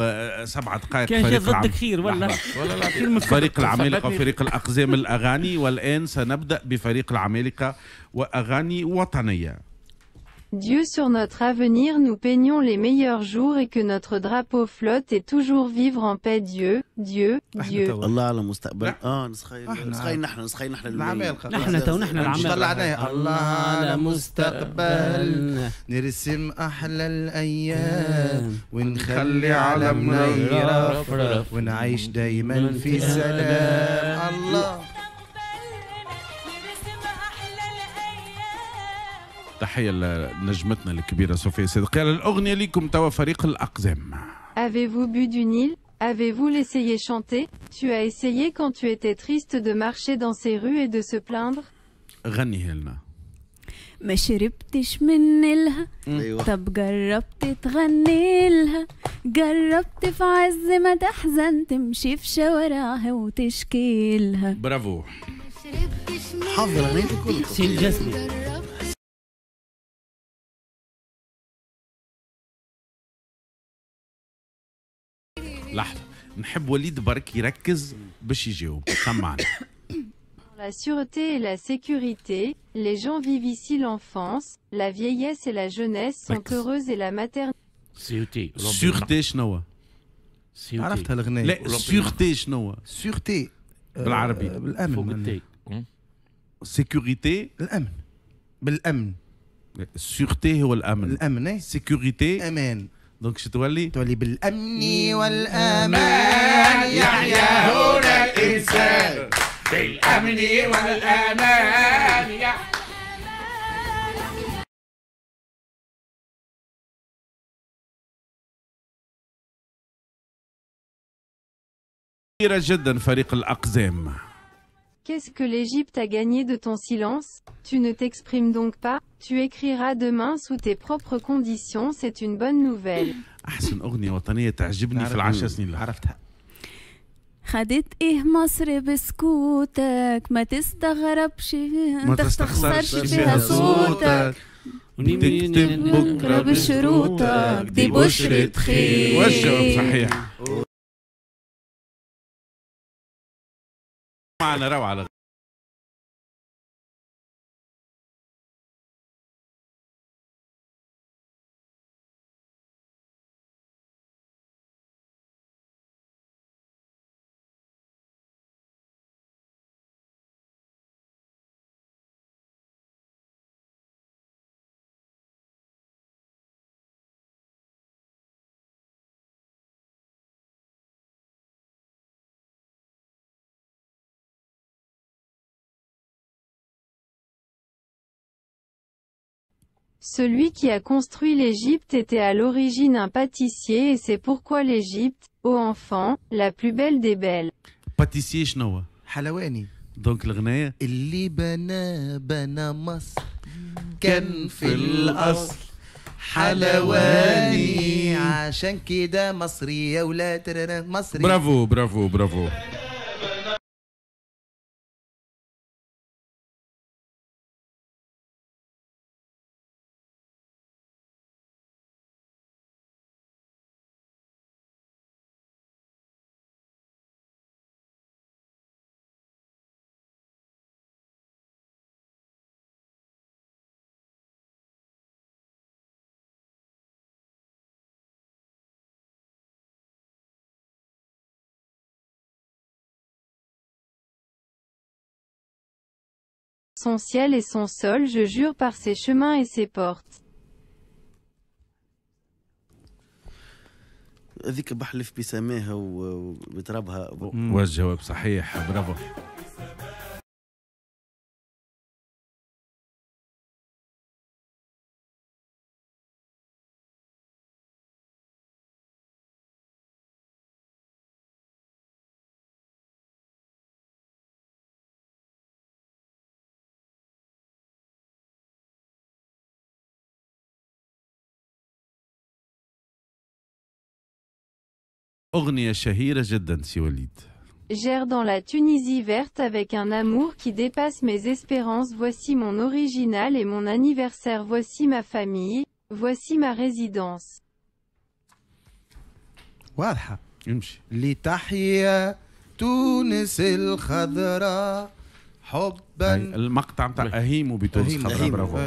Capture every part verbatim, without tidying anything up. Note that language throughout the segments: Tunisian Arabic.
آه، سبع دقائق. كان فريق جا العم... ضدك خير ولا ولا لا. فريق العمالقة وفريق الأقزام الأغاني، والآن سنبدأ بفريق العمالقة وأغاني وطنية. Dieu sur notre avenir nous peignons les meilleurs jours et que notre drapeau flotte et toujours vivre en paix Dieu, Dieu, Dieu. الله على المستقبل. لا. اه نسخيل احنا- نسخيل نحن نسخيل نحن العمالقة. نحن تو نحن العمالقة. طلعناها. الله على مستقبل نرسم احلى الايام ونخلي علمنا يرفرف ونعيش دايما في سلام. الله. تحية لنجمتنا الكبيرة صوفيا صدقي. الأغنية لكم توا فريق الأقزام. Avez-vous bu du Nil? Avez-vous l'essayé chanter? Tu as essayé quand tu étais triste de marcher dans ces rues et de se plaindre? غنيها لنا. ما شربتش من نيلها. ايوه. طب جربت تغني لها؟ جربت في عز ما تحزن تمشي في شوارعها وتشكي لها؟ برافو. حافظ الاغنية كلها. سي الجسمي. لحظة، نحب وليد برك يركز باش يجاوب. سمعنا. La sûreté et la sécurité, les gens vivent ici l'enfance, la vieillesse et la jeunesse sont ركز. heureuses et la maternité. sûreté. sûreté شنو؟ sûreté. عرفتها الاغنية. لا، sûreté شنو؟ sûreté بالعربي. بالامن. فوق التي. sécurité. الامن بالامن. sûreté هو الأمن. الامن إيه؟ sécurité امان. donc شو تولي؟ تولي بالامن والامان يحيا هنا الانسان بالأمن والأمان يا كبيرة جدا فريق الأقزام. Qu'est-ce que l'Égypte a gagné de ton silence? Tu ne t'exprimes donc pas? Tu écriras demain sous tes propres conditions, c'est une bonne nouvelle. أحسن أغنية وطنية تعجبني في العشر سنين الأخيرة. عرفتها. خدت ايه مصر بسكوتك؟ ما تستغربش، ما تستخسرش فيها صوتك، تكتب بكرة بشروطك، دي بشرة خير. والجواب صحيح. معنا روعة. Celui qui a construit l'Égypte était à l'origine un pâtissier et c'est pourquoi l'Égypte, ô enfant, la plus belle des belles. pâtissier شنو؟ حلواني. donc الغناية اللي بنى بنى مصر كان في الأصل حلواني، عشان كده مصري يا ولاد مصري. برافو برافو برافو. Son ciel et son sol, je jure par ses chemins et ses portes. هذيك بحلف بسماها وبترابها. والجواب صحيح. برافو. أغنية شهيرة جدا سي وليد. J'erre dans la Tunisie verte avec un amour qui dépasse mes espérances. Voici mon original et mon anniversaire. Voici ma famille. Voici ma résidence. واضحة. امشي. لتحيا تونس الخضراء حبا. المقطع نتاع أهيم بتونس الخضراء. برافو.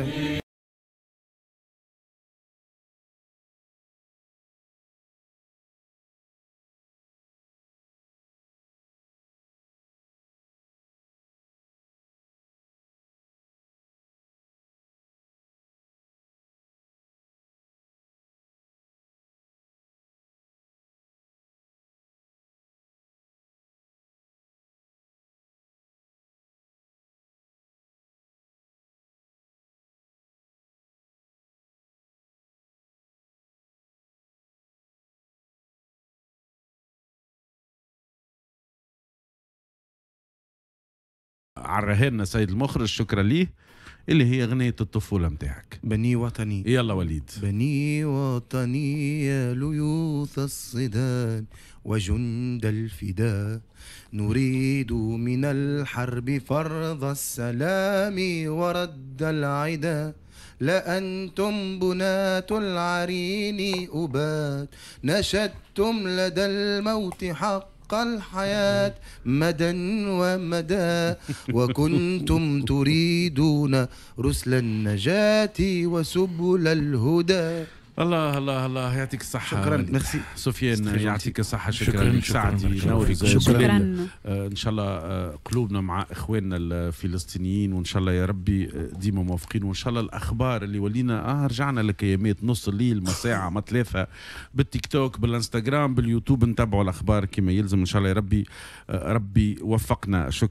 عرهنا سيد المخرج، شكرا ليه، اللي هي أغنية الطفولة متاعك. بني وطني. يلا وليد. بني وطني يا ليوث الصدان وجند الفداء، نريد من الحرب فرض السلام ورد العدا، لأنتم بناة العرين أبات، نشدتم لدى الموت حق الحياة مدى ومدى، وكنتم تريدون رسل النجاة وسبل الهدى. الله الله الله، يعطيك الصحة. شكرا. ميرسي سفيان، يعطيك الصحة. شكرا لك سعدي. شكرا. ان شاء الله قلوبنا مع اخواننا الفلسطينيين، وان شاء الله يا ربي ديما موافقين، وان شاء الله الاخبار اللي ولينا اه رجعنا لكيامات نص الليل، ما ساعة ما ثلاثة، بالتيك توك بالانستغرام باليوتيوب، نتابعوا الاخبار كما يلزم. ان شاء الله يا ربي ربي وفقنا. شكرا.